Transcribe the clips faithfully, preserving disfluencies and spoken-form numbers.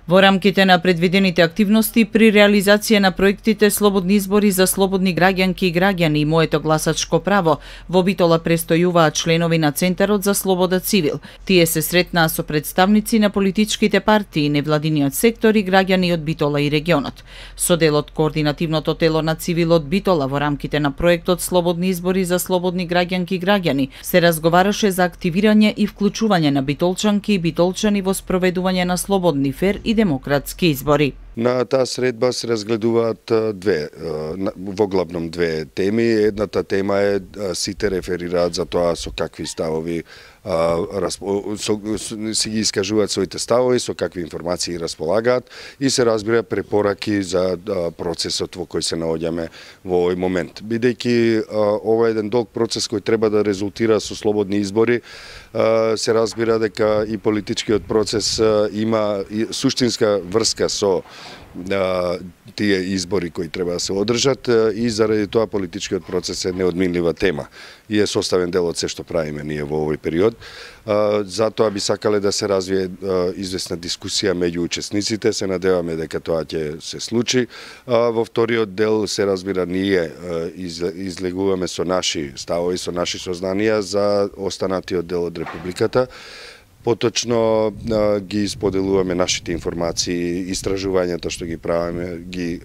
Во рамките на предвидените активности при реализација на проектите Слободни избори за слободни граѓанки и граѓани и Моето гласачко право, во Битола престојуваат членови на Центарот за слобода цивил. Тие се сретнаа со представници на политичките партии, невладиниот сектор и граѓани од Битола и регионот. Со дел од координативното тело на цивилот Битола во рамките на проектот Слободни избори за слободни граѓанки и граѓани се разговараше за активирање и вклучување на битолчанки и битолчани во спроведување на слободни, фер и демократски избори. На таа средба се разгледуваат две, воглавном две теми. Едната тема е сите реферираат за тоа со какви ставови си ги искажуваат своите ставови, со какви информации располагаат и се разбира препораки за процесот во кој се наоѓаме во овој момент. Бидејќи ова е еден долг процес кој треба да резултира со слободни избори, се разбира дека и политичкиот процес има суштинска врска со тие избори кои треба да се одржат и заради тоа политичкиот процес е неодминлива тема и е составен дел од се што правиме ние во овој период. Затоа би сакале да се развие известна дискусија меѓу учесниците, се надеваме дека тоа ќе се случи. Во вториот дел се разбира ние излегуваме со наши ставови, со наши сознанија за останатиот дел од Републиката. Поточно ги споделуваме нашите информации, истражувањата што ги правиме, ги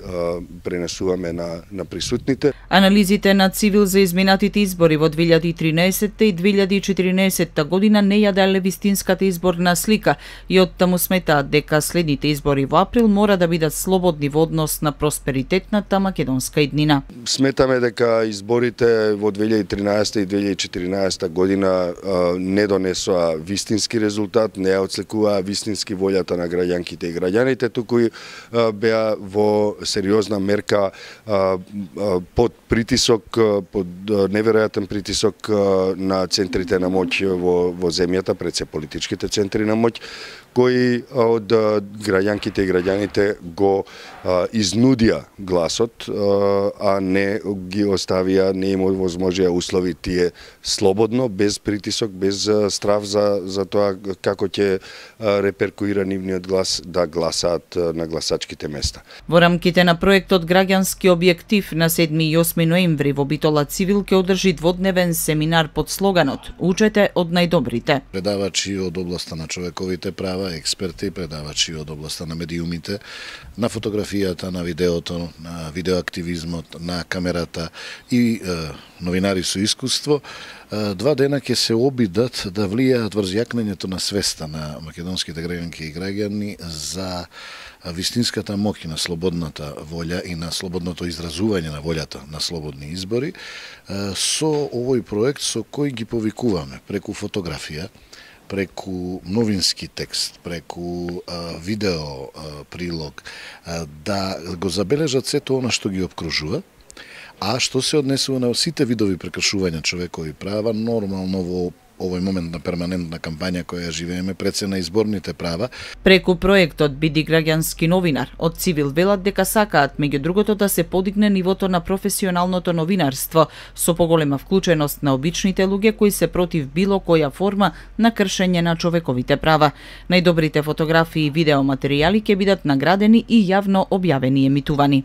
пренесуваме на, на присутните. Анализите на Цивил за изминатите избори во две илјади и тринаесетта и две илјади и четиринаесетта година не ја дале вистинската изборна слика и оттаму сметаат дека следните избори во април мора да бидат слободни во однос на просперитетната македонска иднина. Сметаме дека изборите во две илјади и тринаесетта и две илјади и четиринаесетта година не донесоа вистински резултати, резултат не ја отслекуваа вистински волјата на граѓанките и граѓаните, туку беа во сериозна мерка под притисок, под неверојатен притисок на центрите на моќ во, во земјата, пред се политичките центри на моќ, кои од граѓанките и граѓаните го изнудија гласот, а не ги оставија, не им возможија услови тие слободно, без притисок, без страв за, за тоа како ќе реперкуира нивниот глас да гласаат на гласачките места. Во рамките на проектот Граѓански објектив на седми и осми ноември во Битола Цивил ќе одржи дводневен семинар под слоганот "Учете од најдобрите". Предавачи од областа на човековите права, експерти, предавачи од областа на медиумите, на фотографијата, на видеото, на видеоактивизмот, на камерата и е, новинари со искуство, два дена ќе се обидат да влијаат врз јакнењето на свеста на македонските граѓанки и граѓани за вистинската моќ на слободната волја и на слободното изразување на волјата на слободни избори со овој проект со кој ги повикуваме преку фотографија, преку новински текст, преку а, видео а, прилог, а, да го забележат сето она што ги обкружува, а што се однесува на сите видови прекршувања човекови права, нормално во овој момент на перманентна кампања која живееме пред се на изборните права. Преку проектот Биди граѓански новинар, од Цивил велат дека сакаат меѓу другото да се подигне нивото на професионалното новинарство со поголема вклученост на обичните луѓе кои се против било која форма на кршење на човековите права. Најдобрите фотографии и видеоматеријали ќе бидат наградени и јавно објавени и емитувани.